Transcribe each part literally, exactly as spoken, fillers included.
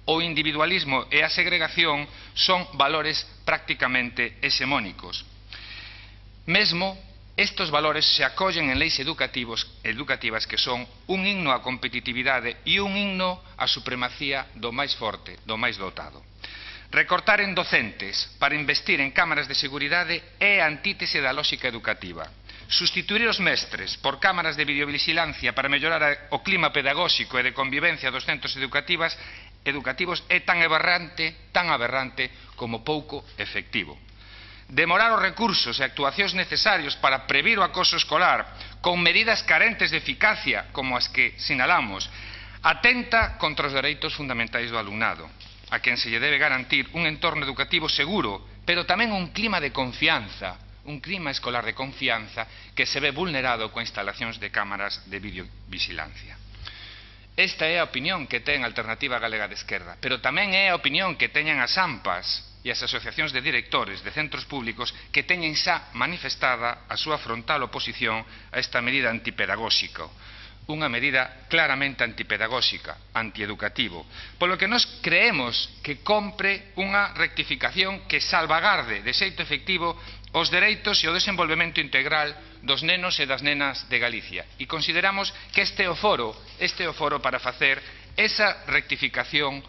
o individualismo e a segregación son valores prácticamente hexemónicos. Mesmo, estes valores se acollen en leis educativos, educativas que son un himno á competitividade e un himno á supremacía do máis forte, do máis dotado. Recortar en docentes para investir en cámaras de seguridade é a antítese da lógica educativa. Sustituir os mestres por cámaras de videovigilancia para mellorar o clima pedagóxico e de convivencia dos centros educativas, educativos é tan aberrante, tan aberrante como pouco efectivo. Demorar os recursos e actuacións necesarios para previr o acoso escolar con medidas carentes de eficacia como as que sinalamos atenta contra os dereitos fundamentais do alumnado, a quen se lle debe garantir un entorno educativo seguro, pero tamén un clima de confianza, un clima escolar de confianza que se ve vulnerado coa instalacións de cámaras de videovigilancia. Esta é a opinión que ten a Alternativa Galega de Esquerda, pero tamén é a opinión que teñen as AMPAs e as asociacións de directores de centros públicos que teñen xa manifestada a súa frontal oposición a esta medida antipedagóxica, unha medida claramente antipedagóxica, antieducativo, polo que nós creemos que compre unha rectificación que salvagarde de xeito efectivo os dereitos e o desenvolvemento integral dos nenos e das nenas de Galicia. E consideramos que este é o foro, este é o foro para facer esa rectificación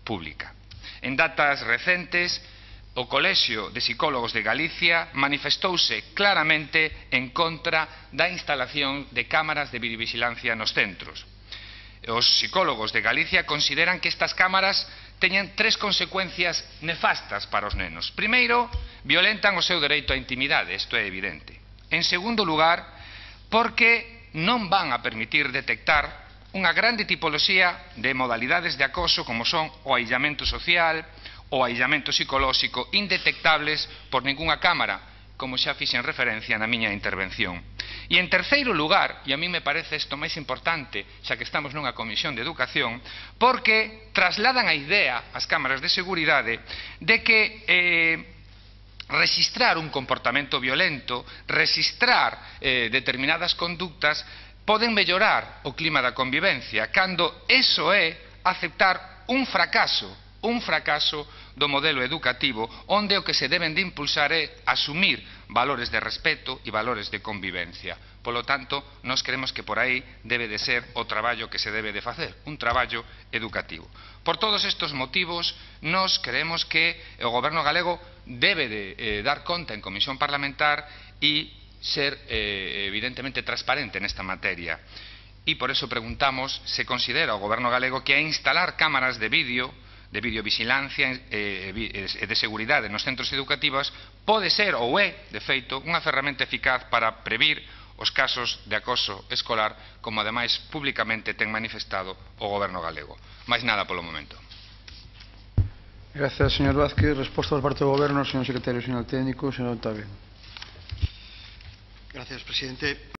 pública. En datas recentes, o Colexio de Psicólogos de Galicia manifestouse claramente en contra da instalación de cámaras de videovigilancia nos centros. Os psicólogos de Galicia consideran que estas cámaras teñen tres consecuencias nefastas para os nenos. Primeiro, violentan o seu dereito á intimidade, isto é evidente. En segundo lugar, porque non van a permitir detectar unha grande tipoloxía de modalidades de acoso como son o aillamento social, o aillamento psicolóxico, indetectables por ningunha cámara, como xa fixen referencia na miña intervención. E en terceiro lugar, e a mí me parece isto máis importante, xa que estamos nunha comisión de educación, porque trasladan a idea ás cámaras de seguridade de que eh, registrar un comportamento violento, registrar eh, determinadas conductas, poden mellorar o clima da convivencia, cando eso é aceptar un fracaso, un fracaso do modelo educativo, onde o que se deben de impulsar é asumir valores de respeto e valores de convivencia. Polo tanto, nós creemos que por aí debe de ser o traballo que se debe de facer, un traballo educativo. Por todos estes motivos, nós creemos que o Goberno galego debe de eh, dar conta en comisión parlamentar e ser eh, evidentemente transparente nesta materia. E por eso preguntamos se considera o Goberno galego que a instalar cámaras de vídeo, de videovigilancia e eh, de seguridade nos centros educativos pode ser ou é, de feito, unha ferramenta eficaz para previr os casos de acoso escolar, como ademais públicamente ten manifestado o Goberno galego. Máis nada polo momento. Gracias, señor Vázquez. Resposta por parte do Goberno, señor secretario xeral técnico, señor Octavio. Gracias, presidente.